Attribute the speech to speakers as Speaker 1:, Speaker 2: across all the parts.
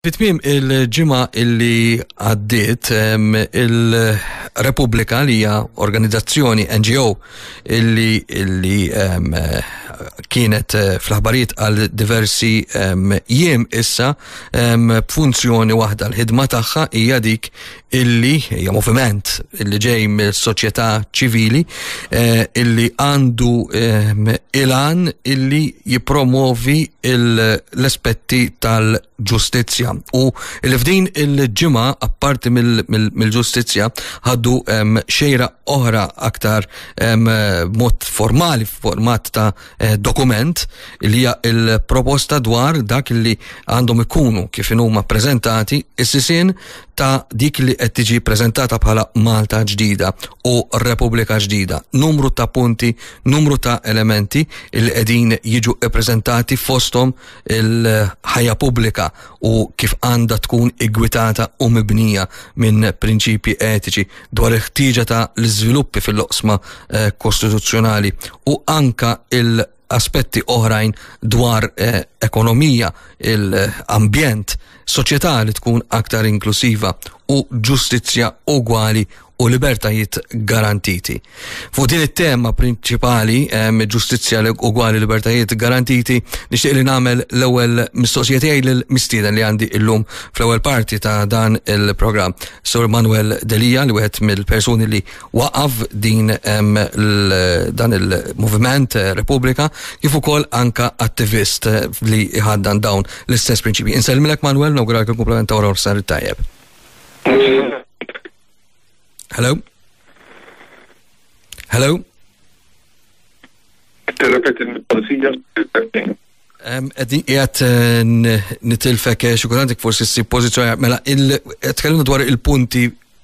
Speaker 1: Fi tmiem il-ġimgħa illi għaddiet il-Repubblika li hija organizzazzjoni NGO illi illi kienet eh, fl-aħbarijiet għal diversi jiem issa b'funzjoni waħda l-ħidma tagħha hija dik illi hija moviment illi ġej mill-soċjetà ċivili eh, illi għandu ilan illi jipromovi l-aspetti tal ġustizzja u li f'din il-ġimgħa apparti mill-ġustizzja ħaddu xejra oħra aktar mod formali f'format ta' eh, dokument li hija il-proposta dwar dak li għandhom ikunu kif huma preżentati is-sisien ta' dik li qed tiġi preżentata bħala Malta ġdida u Repubblika ġdida. Numru ta' punti, numru ta' elementi li qegħdin jiġu ppreżentati fosthom il-ħajja pubblika u kif għandha tkun iggwitata u mibnija minn prinċipji etiċi dwar il-ħtieġa ta' l-iżviluppi fil-loqsma eh, kostituzzjonali u anka il- aspetti oħrajn dwar eh, ekonomija, il-ambjent, soċjetà li tkun aktar inklusiva u ġustizzja ugwali u libertajiet garantiti. Fuq din it-tema prinċipali, ġustizzja ugwali libertajiet garantiti, nixtieq li nagħmel l-ewwel mistoqsija tiegħi lill-mistieden li għandi illum fl-ewwel parti ta' dan il-programm. Sur Manuel Delia li wieħed mill-persuni li waqaf din dan il-moviment eh, Repubblika kif ukoll anka attivist eh, li ħaddan dawn l-istess prinċipji. Insellmilek Manuel, nawguralek il-kumplament ta' wara sar tajjeb. Hello? Hello?
Speaker 2: Tirrepeti l-mistoqsija.
Speaker 1: Qegħdin qiegħed eh, nitilfek eh, xi kultant forsi ssib pożizzjoni mela tkellimna dwar il-punti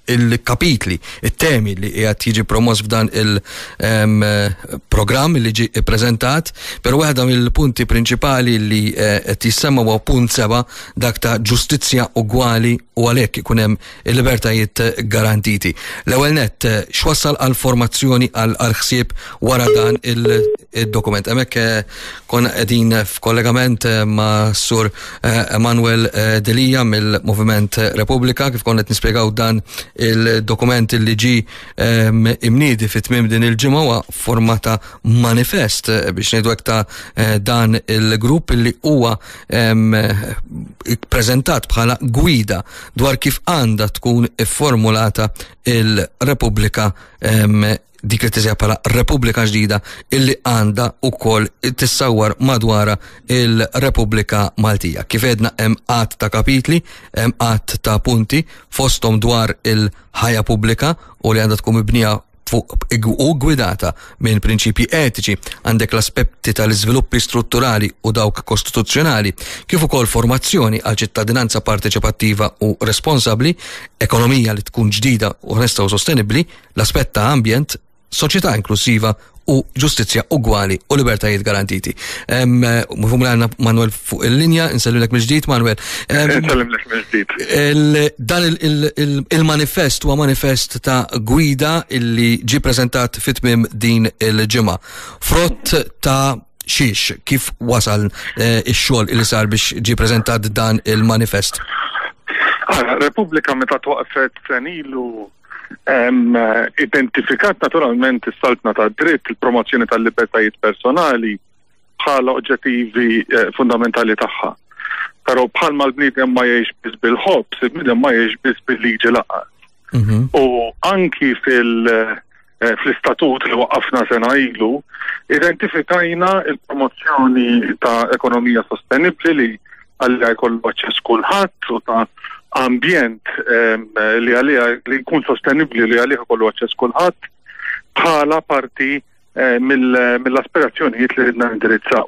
Speaker 1: il-kapitli, it-temi li qiegħed jiġi promoss f'dan il-programm li ġi ppreżentat, però waħda mill-punti prinċipali li eh, qed jissemma huwa punt seba' dak ta' ġustizzja ugwali u għalhekk ikun hemm il-libertajiet garantiti. L-ewwel nett, x'wassal għal formazzjoni għal ħsieb wara dan il-dokument? Hemmhekk eh, konna qegħdin f'kollegament eh, ma' Sur eh, Emanuel Delia mill-Moviment Repubblika kif konna qed nispjegaw dan il-dokument li ġi imniedi fit tmiem din il-ġimgħa huwa formata manifest biex ngħidu hekk ta' dan il-grupp li huwa preżentat bħala gwida dwar kif għandha tkun ifformulata il-Repubblika dik li tiżja bħala Repubblika ġdida illi għandha wkoll tissawwar madwara il-Repubblika Maltija. Kif edna hemm qatt ta' kapitli, hemm qatt ta' punti fosthom dwar il-ħajja pubblika u li għandha tkun mibnija fuq u gwidata minn prinċipji etiċi, għandek l-aspetti tal-iżviluppi strutturali u dawk kostituzzjonali, kif ukoll formazzjoni għal ċittadinanza parteċipattiva u responsabbli, ekonomija li tkun ġdida u onesta u sostenibbli, l-aspett ta' ambjent, soċjetà inklusiva u ġustizzja ugwali u libertajiet garantiti. Mifhum li għandna Manuel fuq il-linja, insellilek mill-ġdid Manuel.
Speaker 2: Insellimlek
Speaker 1: mill-ġdid. Dan il-manifest huwa manifest ta' gwida illi ġi preżentat fit-tmiem din il-ġimgħa. Frott ta' xiex, kif wasal eh, ix-xogħol li sar biex ġi preżentat dan il-manifest?
Speaker 2: Repubblika meta twaqfet senilu Identifikat naturalment is-saltna ta' dritt, il-promozzjoni tal-libertajiet personali bħala oġġettivi eh, fundamentali tagħha. Però bħalma l-bniedem ma jgħix biss bil-ħobż, il-bniedem ma jgħix biss bil-liġi laqas. Mhm. U anki fil- eh, fl-istatut li waqqafna sena ilu, identifikajna il-promozzjoni ta' ekonomija sostenibli li għalija jkollu aċċess kulħadd u ta' ambjent ehm, li għalija li jkun sostenibbli li għalih ikollu aċċess kulħadd bħala parti eh, mill-aspirazzjonijiet li ridna nindirizzaw.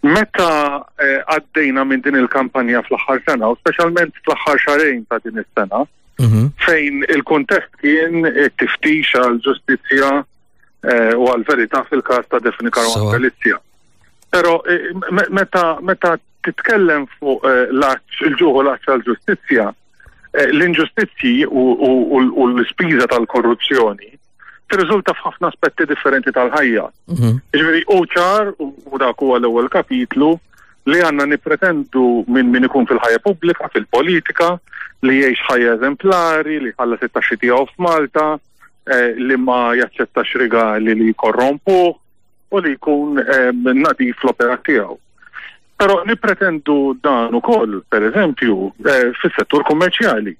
Speaker 2: Meta eh, għaddejna minn din il-kampanja fl-aħħar sena, u speċjalment fl-aħħar xarejn ta' din is-sena, mhm. fejn il-kuntest kien it-tiftix għal ġustizzja eh, u għal verità fil-każ ta' Defini Caruana Galizia. Però eh, meta meta titkellem fuq eh, l-għatx, il-ġuħ u l-għatx għal-ġustizzja, eh, l-inġustizzji u l-ispiża tal-korruzzjoni tirriżulta f'ħafna aspetti differenti tal-ħajja. Mhm. Ġifieri u ċar u dak huwa l-ewwel kapitlu li għandna nippretendu minn min ikun fil-ħajja pubblika, fil-politika, li jgħix ħajja eżemplari, li jħallas it-taxxi tiegħu f'Malta, eh, li ma jaċċettax rigali li jkorrompuh u li jkun eh, nadif l-opera tiegħu. Però nippretendu dan ukoll, per eżempju, eh, fis-settur kummerċjali.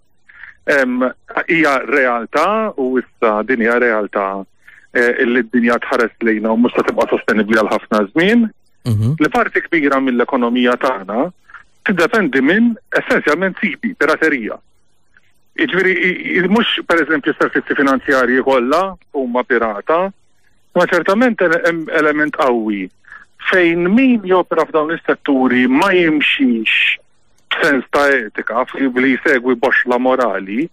Speaker 2: Hija realtà u issa din hija realtà eh, li d-dinja tħares lejna u mhux se tibqa' sostenibbli għal ħafna żmien, mhm. li parti kbira mill-ekonomija tagħna tiddependi minn essenzjalment sibi, piraterija. Jiġifieri mhux pereżempju s-servizzi finanzjarji kollha huma pirata, ma ċertament hemm element qawwi fejn min jopera f'dawn is-setturi ma jimxix b'sens ta' etika li jsegwi boxla morali,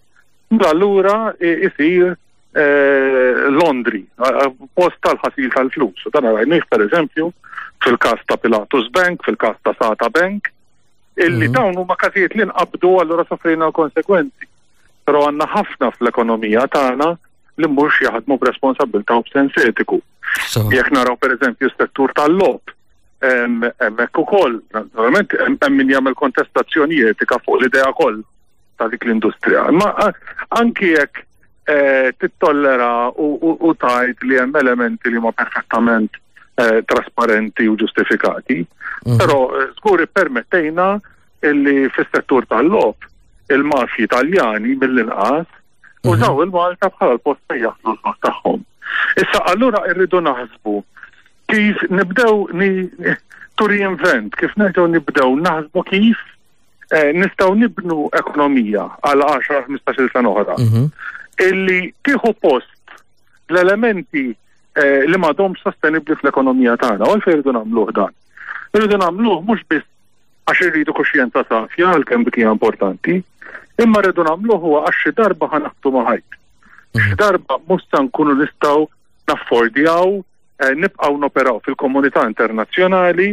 Speaker 2: allura isir eh, Londri, post tal-ħasil tal-flus. U dan rajnih pereżempju fil-każ ta' Pilatus Bank, fil-każ ta' Sata Bank, illi mhm. dawn huma każijiet li nqabdu allura sofrejna l-konsekwenzi. Però għandna ħafna fl-ekonomija tagħna li mhux jaħdmu b'responsabilità u b'sens etiku. Jekk naraw pereżempju s-settur tal-lob, hemmhekk ukoll, naturalment hemm min jagħmel kontestazzjoni etika fuq l-idea koll ta' dik l-industrija. Ma anki jekk eh, tittollera u tajt li hemm elementi li ma perfettament eh, trasparenti u ġustifikati, mhm. però eh, żgur ippermettejna illi fis-settur tal-lob il-mafji Taljani mill-inqas mhm. użaw il-Malta bħala l-post fejn jaħlu l tagħhom. Issa allura rridu naħsbu kif nibdew to reinvent, kif nerġgħu nibdew naħsbu kif eh, nistgħu nibnu ekonomija għal 10-15 sena oħra. Mhm. Illi tieħu post l-elementi eh, li m'għadhomx sostenibbli fl-ekonomija tagħna. U għalfejn irridu nagħmluh dan. Irridu nagħmluh mhux biss għax irridu kuxjenza safja għalkemm dik hija importanti, imma rridu nagħmluh huwa għax xi darba ħanaħtu ma' ħajt. Xi mhm. darba mhux se nkunu nistgħu naffordjaw eh, nibqgħu noperaw fil-komunità internazzjonali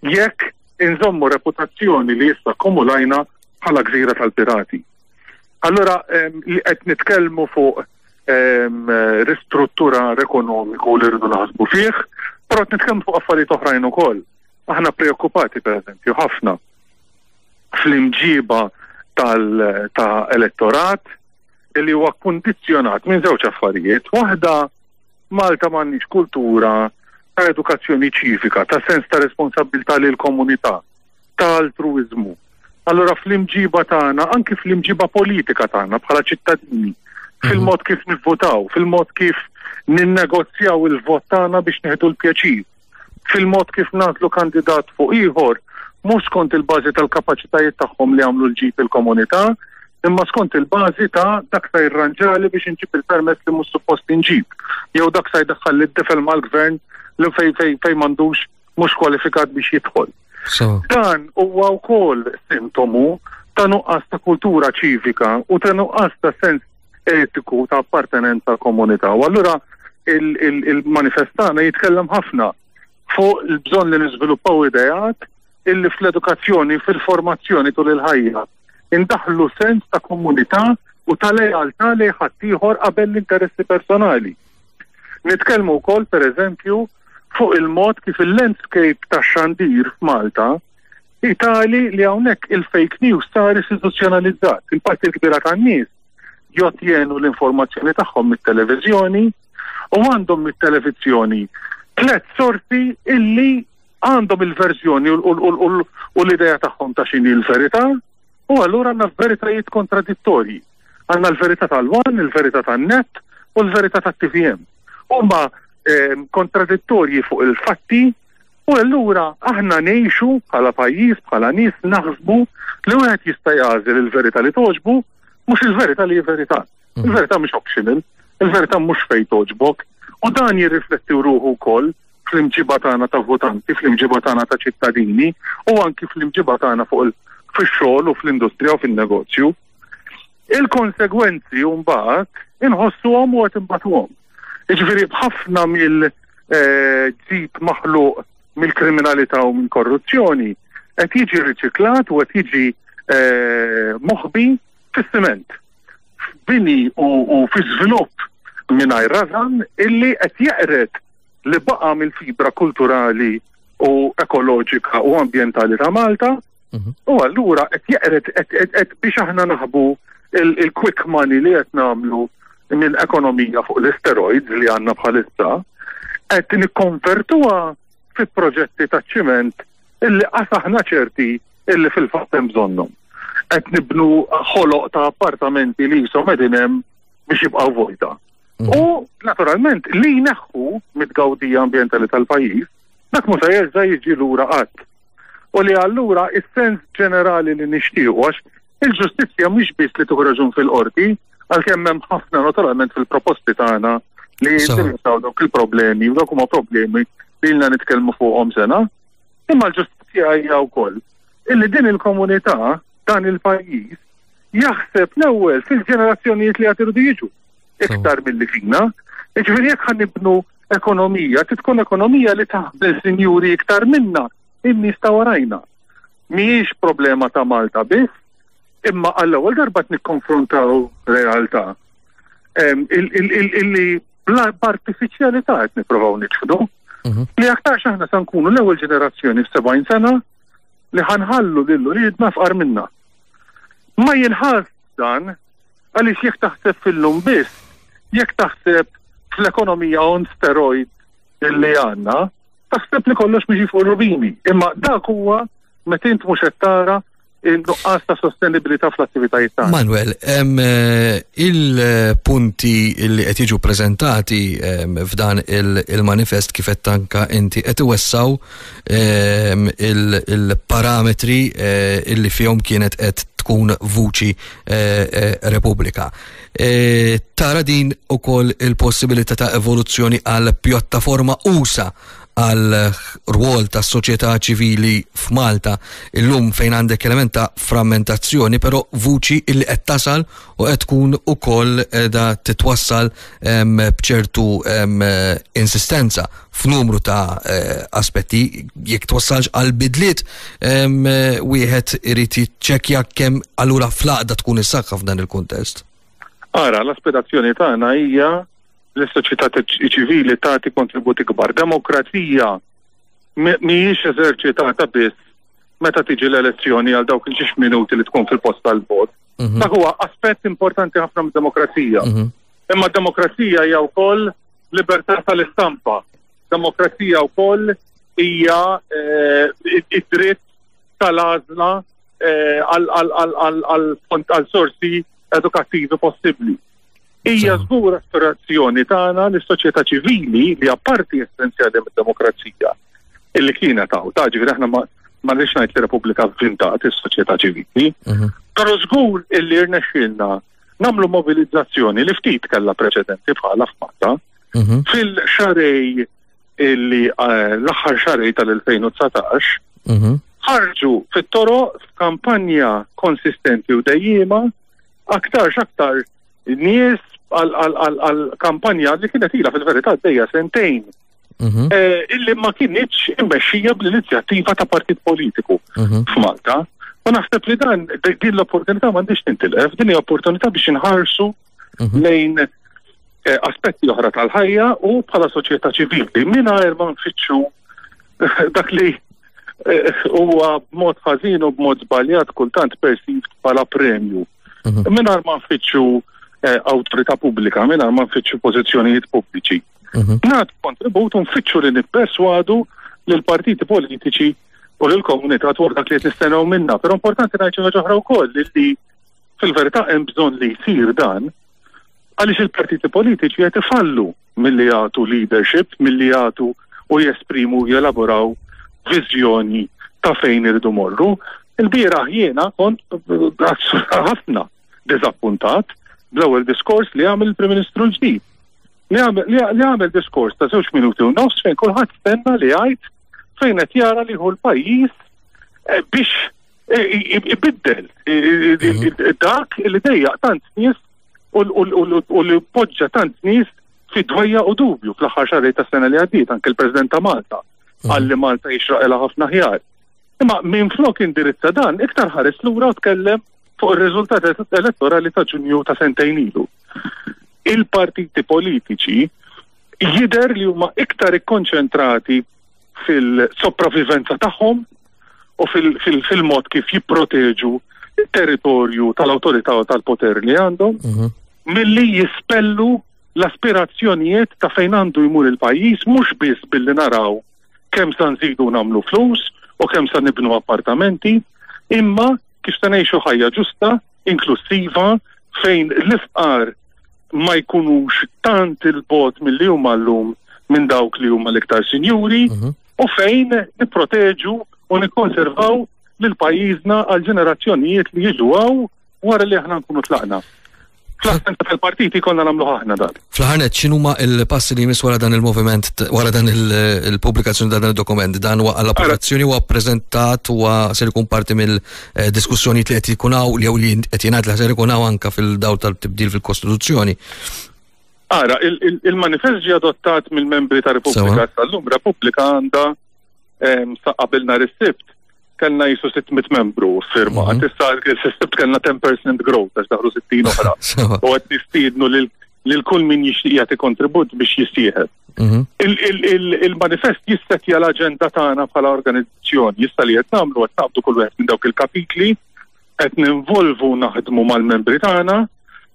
Speaker 2: jekk inżommu reputazzjoni li issa akkumulajna bħala gżira tal-pirati. Allora li qed nitkellmu fuq ristrutturar ekonomiku li rridu naħsbu fih, però qed nitkellmu fuq affarijiet oħrajn ukoll. Aħna preokkupati pereżempju ħafna fl-imġiba tal-ta' elettorat li huwa kundizzjonat minn żewġ affarijiet. Waħda Malta m'għandniex kultura ta' edukazzjoni ċivika, ta' sens ta' responsabilità lil komunità, ta' altruiżmu. Allora fl-imġiba tagħna, anki fl-imġiba politika tagħna bħala ċittadini, mhm. fil-mod kif nivvotaw, fil-mod kif ninnegozjaw il-vot tagħna biex nieħdu l-pjaċir, fil-mod kif nagħżlu kandidat fuq ieħor, mhux skont il-bażi tal-kapaċitajiet tagħhom li għamlu l-ġid il-komunità, imma skont il-bażi ta' dak sa jirranġali biex inġib il-permess li mhux suppost inġib, jew dak sa jdaħħal lid-tifel mal-gvern li fej fej fej m'għandux mhux kwalifikat biex jidħol. Dan huwa wkoll sintomu ta' nuqqas ta' kultura ċivika u ta' nuqqas ta' sens etiku ta' appartenenza għal komunità. U allura il-manifest tagħna jitkellem ħafna fuq il-bżonn li niżviluppaw ideat illi fl-edukazzjoni, fil-formazzjoni tul il-ħajja, indaħlu sens ta' komunità u ta' lealtà lejn ħaddieħor qabel l-interessi personali. Nitkellmu wkoll pereżempju fuq il-mod kif il-landscape tax-xandir f'Malta hi tali li hawnhekk il-fake news sar istituzzjonalizzat. Il-parti l-kbira tan-nies jottjenu l-informazzjoni tagħhom mit-televiżjoni u għandhom mit-televiżjoni tlet sorsi illi għandhom il-verżjoni u l-idea tagħhom ta' x'inhi l-verità u allura għandna veritajiet kontradittorji. Għandna l-verità tal-One, il-verità tan-Net u l-verità tat-TVM. Huma ehm, kontradittorji fuq il-fatti u allura aħna ngħixu bħala pajjiż, bħala nies naħsbu li wieħed jista' jagħżel il-verità li toġbu mhux il-verità li hi verità. Mm. Il-verità mhix optional, il-verità mhux fejn toġbok u dan jirrifletti ruħu wkoll fl-imġiba tagħna ta' votanti, fl-imġiba tagħna ta' ċittadini u anki fl-imġiba tagħna fuq fix-xogħol u fl-industrija u fin-negozju. Il-konsegwenzi mbagħad inħossuhom u qed imbagħtuhom. Jiġifieri b'ħafna mill-ġid eh, maħluq mill-kriminalità u mill-korruzzjoni qed jiġi riċiklat u qed jiġi eh, moħbi fis-siment. F'bini u fi żvilupp mingħajr rażan illi qed jeqred li baqa' mill-fibra kulturali u ekoloġika u ambjentali ta' Malta. U allura qed jeqred qed biex aħna naħbu il-quick money li qed nagħmlu minn ekonomija fuq l-steroids li għandna bħalissa, qed nikkonvertuha fi proġetti ta' ċiment illi qas aħna ċerti illi fil-fatt hemm bżonnhom. Qed nibnu ħoloq ta' appartamenti li jisom qegħdin hemm biex jibqgħu vojta. U naturalment li jneħħu mit-tgawdija ambjentali tal-pajjiż, dak mhux se jerġa' jiġi lura qatt. U li allura is-sens ġenerali li nixtiequ, għax il-ġustizzja mhix biss li tieħu raġun fil-qorti, għalkemm hemm ħafna naturalment fil-proposti tagħna li jindirizzaw dawk il-problemi, u dawk huma problemi li ilna nitkellmu fuqhom sena, imma l-ġustizzja hija wkoll illi din il-komunità, dan il-pajjiż, jaħseb l-ewwel fil-ġenerazzjonijiet li għad iridu jiġu iktar milli fina. Jiġifieri jekk ħa nibnu ekonomija, trid tkun ekonomija li taħdem sinjuri iktar minna, in-nies ta' warajna. Mhijiex problema ta' Malta biss, imma għall-ewwel darba qed nikkonfrontaw realtà illi b'artifiċjalità qed nipprovaw niċħdu. Li aktarx aħna se nkunu l-ewwel ġenerazzjoni f'70 sena li ħanħallu lil uliedna fqar minna. Ma jinħass dan għaliex jekk taħseb fil-lum biss, jekk taħseb fl-ekonomija on steroid illi għandna, taħseb li kollox miexi fuq rubini. Imma dak huwa meta int mhux qed tara il-nuqqas ta' sostenibilità fl-attivitajiet tagħna.
Speaker 1: Manuel, il-punti li qed jiġu preżentati f'dan il-manifest kif qed tanka inti qed iwessaw il-parametri illi fihom kienet qed tkun vuċi Repubblika. Tara din ukoll il-possibilità ta' evoluzzjoni għal pjattaforma usa għal rwol ta' soċjetà ċivili f'Malta illum fejn għandek element ta' frammentazzjoni, però vuċi illi qed tasal u qed tkun ukoll da titwassal b'ċertu insistenza f'numru ta' aspetti jekk twassalx għal bidliet wieħed irid jiċċekkja kemm allura fl-għaqda tkun is-saħħa f'dan il-kuntest.
Speaker 2: Ara, l-aspirazzjoni tagħna hija li s-soċjetà ċivili tagħti kontributi kbar. Demokrazija mhijiex eżerċitata biss meta tiġi l-elezzjoni għal dawk il-ġiex minuti li tkun fil-post tal-vot. Dak huwa aspett importanti ħafna mid-demokrazija. Imma d-demokrazija hija wkoll libertà tal-istampa. Demokrazija wkoll hija id-dritt tal-għażla għal sorsi edukattivi possibbli. Hija żgur aspirazzjoni tagħna li s-soċjetà ċivili li hija parti essenzjali mid-demokrazija illi kienet hawn, ta' ġifieri aħna ma rridx ngħid li Repubblika vvintat is-soċjetà ċivili, però żgur illi rnexxielna nagħmlu mobilizzazzjoni li ftit kellha preċedenti bħala f'Malta fil-xarej illi l-aħħar xarej tal-2019 ħarġu fit-toroq f'kampanja konsistenti u dejjiema aktarx aktar nies għal kampanja li kienet ilha fil-verità għaddejja sentejn. Illi ma kinitx immexxija bl-inizjattiva ta' partit politiku f'Malta. U naħseb li dan din l-opportunità m'għandix tintilef, din hija opportunità biex inħarsu lejn aspetti oħra tal-ħajja u bħala soċjetà ċivili mingħajr ma nfittxu dak li huwa b'mod ħażin u b'mod żbaljat kultant perceived bħala premju. Mingħajr ma nfittxu awtorità pubblika, mingħajr ma nfittxu pożizzjonijiet pubbliċi. Nagħtu kontribut u nfittxu li nipperswadu lill-partiti politiċi u lill-komunità dwar dak li qed nistennew minna. Però importanti ngħid xi ħaġa oħra wkoll li fil-verità hemm bżonn li jsir dan għaliex il-partiti politiċi qed ifallu milli jagħtu leadership, milli jagħtu u jesprimu u jelaboraw viżjoni ta' fejn irridu morru. Il-bieraħ jiena kont ħafna diżappuntat bl-ewwel diskors li għamel il-Prim Ministru l-ġdid. Li għamel diskors ta' 2 minuti u nofs fejn kulħadd stenna li jgħid fejn qed jara li hu l-pajjiż biex ibiddel dak li dejjaq tant nies u li poġġa tant nies fi dwejja u dubju fl-aħħar xahar ta' sena li għaddiet, anke l-President ta' Malta qal li Malta jixraqilha ħafna ħjar. Imma minn flok indirizza dan, iktar ħares lura u tkellem fuq ir-riżultat elettorali ta' Ġunju ta' sentejn ilu. Il-partiti politiċi jidher li huma iktar ikkonċentrati fil-sopravivenza tagħhom u fil-mod kif jipproteġu il-territorju tal-awtorità u tal-poter li għandhom, mhm. milli jispellu l-aspirazzjonijiet ta' fejn għandu jmur il-pajjiż mhux biss billi naraw kemm sa nżidu nagħmlu flus u kemm sa nibnu appartamenti, imma kif se ngħixu ħajja ġusta, inklusiva, fejn l-ifqar ma jkunux tant il-bot milli huma llum minn dawk li huma l-iktar sinjuri mhm. u fejn nipproteġu u nikkonservaw lil pajjiżna għal ġenerazzjonijiet li jiġu għaw wara li aħna nkunu tlaqna. Fl-assenza tal-partiti konna nagħmlu aħna dan.
Speaker 1: Fl-aħħar x'inhuma l-passi li jmiss wara dan il-moviment, wara dan il-pubblikazzjoni ta' dan il-dokument? Dan huwa għall-approvazzjoni huwa ppreżentat huwa ser ikun parti mill-diskussjonijiet li qed ikun hawn jew li qed jingħad li ser ikun hawn anke fil-dawl tal-tibdil fil-Kostituzzjoni.
Speaker 2: Ara, il-manifest ġie adottat mill-membri ta' Repubblika tal-lum. Repubblika għandha sa qabel nhar is-Sibt kellna jisu 600 membru firma. Mhm. Issa s-sibt kellna 10% growth għax daħlu 60 oħra. U qed nistiednu lil kull min jixtieq jagħti kontribut biex jissieħeb. Mhm. Il-manifest jissetja l-aġenda tagħna bħala organizzazzjoni. Issa li qed nagħmlu qed naqbdu kull wieħed minn dawk il-kapitli qed ninvolvu naħdmu mal-membri tagħna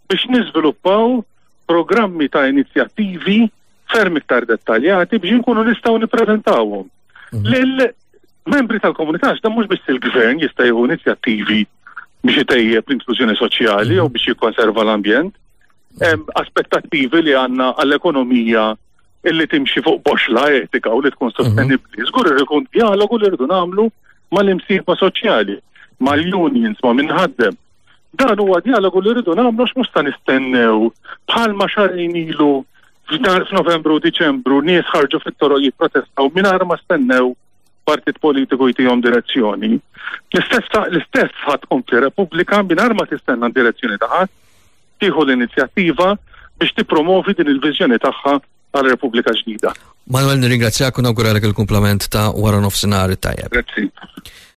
Speaker 2: biex niżviluppaw programmi ta' inizjattivi ferm iktar dettaljati biex inkunu nistgħu nippreżentawhom mhm. lil membri tal-komunità għax dan mhux biss il-gvern jista' jieħu inizjattivi biex itejjeb l-inklużjoni soċjali jew mhm. biex jikkonserva l-ambjent. Hemm aspettattivi li għandna għall-ekonomija illi timxi fuq boxla etika u li tkun mhm. sostenibbli. Żgur irid ikun dialogu li rridu nagħmlu mal-imsieħba soċjali, mal-unions, ma' minħaddem. Dan huwa dialogu li rridu nagħmlu għax mhux ta' nistennew bħalma xarejn ilu f'Novembru u Diċembru nies ħarġu fit-toroq jipprotestaw mingħajr ma stennew partit politiku jtihom direzzjoni. L-istess l-istess ħadd tkompli Repubblika mingħajr ma tistenna direzzjoni ta' ħadd, tieħu l-inizjattiva biex tippromovi din il-viżjoni tagħha għal Repubblika ġdida.
Speaker 1: Manuel, nirringrazzjak u nawguralek il-kumplament ta' wara nofsinhar it-tajjeb.
Speaker 2: Grazzi.